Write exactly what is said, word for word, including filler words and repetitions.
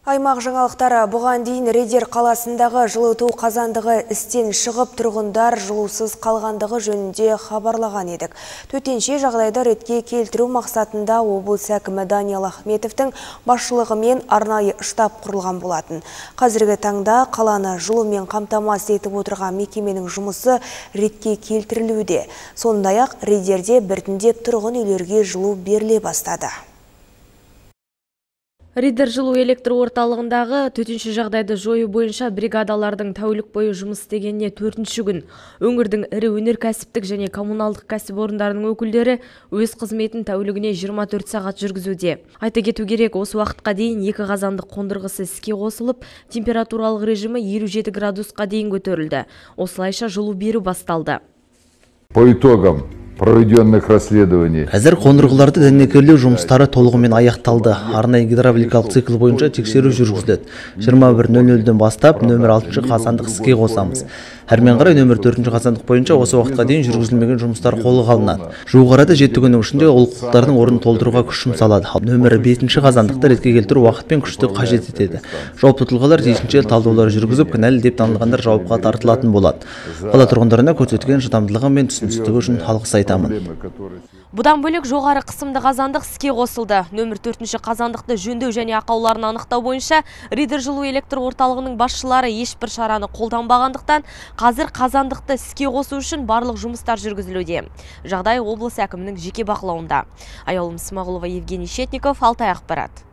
Аймақ жаңалықтары бұған дейін Риддер қаласындағы жылыту қазандығы істен шығып тұрғындар жылусыз қалғандығы жөнінде хабарлаған едік. Төтенше жағдайды ретке келтіру мақсатында облыс әкімі Даниал Ахметовтің басшылығымен арнайы штаб құрылған болатын. Қазіргі таңда қаланы жылумен қамтамасыз етіп отырған мекеменің жұмысы ретке келтірілуде. Сондай-ақ Риддерде біртіндеп тұрғын үйлерге жылу беріле бастады. Риддер жылу электр орталығындағы төтенше жағдайды жою бойынша бригадалардың тәулік бойы жұмыс істегеніне төртінші күн. Өңірдің ірі өнеркәсіптік және коммуналдық кәсіпорындарының өкілдері өз қызметін тәулігіне жиырма төрт сағат жүргізуде. Айта кету керек, осы уақытқа дейін екі қазандық қондырғысы іске қосылып, температуралық режимі елу жеті градусқа дейін көтерілді. Осылайша жылу беру басталды. По итогам проведенных расследований. Әзір қондырғыларды дәнекерлеу жұмыстары толығымен аяқталды. Арнайы гидравликалық цикл бойынша тексеру жүргізілді. жиырма бір нөл нөлден бастап нөмір алтыншы қазандық іске қосамыз. Әрмен қарай нөмір төртінші қазандық бойынша осы уақытқа дейін жүргізілмеген жұмыстар қолға алынады. Жуық арада жеті күннің ішінде олқылықтардың орнын толтыруға күш жұмсалады. Нөмір бесінші қазандықты ретке келтіру уақыт пен күшті қажет етеді. Жауапты тұлғалар тиісінше талдаулар жүргізіп, кінәлі деп танылғандар жауапқа тартылатын болады. Қала тұрғындарына көрсеткен шыдамдылығы мен түсіністігі үшін алғыс айтамын. Бұдан бөлек жоғары қысымды қазандық іске қосылды. Нөмір төртінші қазандықты жөндеу және ақауларын анықтау бойынша Риддер жылу электр орталығының басшылары ешбір шараны қолданбағандықтан, қазір қазандықты іске қосу үшін барлық жұмыстар жүргізілуде. Жағдай облыс әкімінің жеке бақылауында. Аяулым Смағұлова, Евгений Щетников, Алтай ақпарат.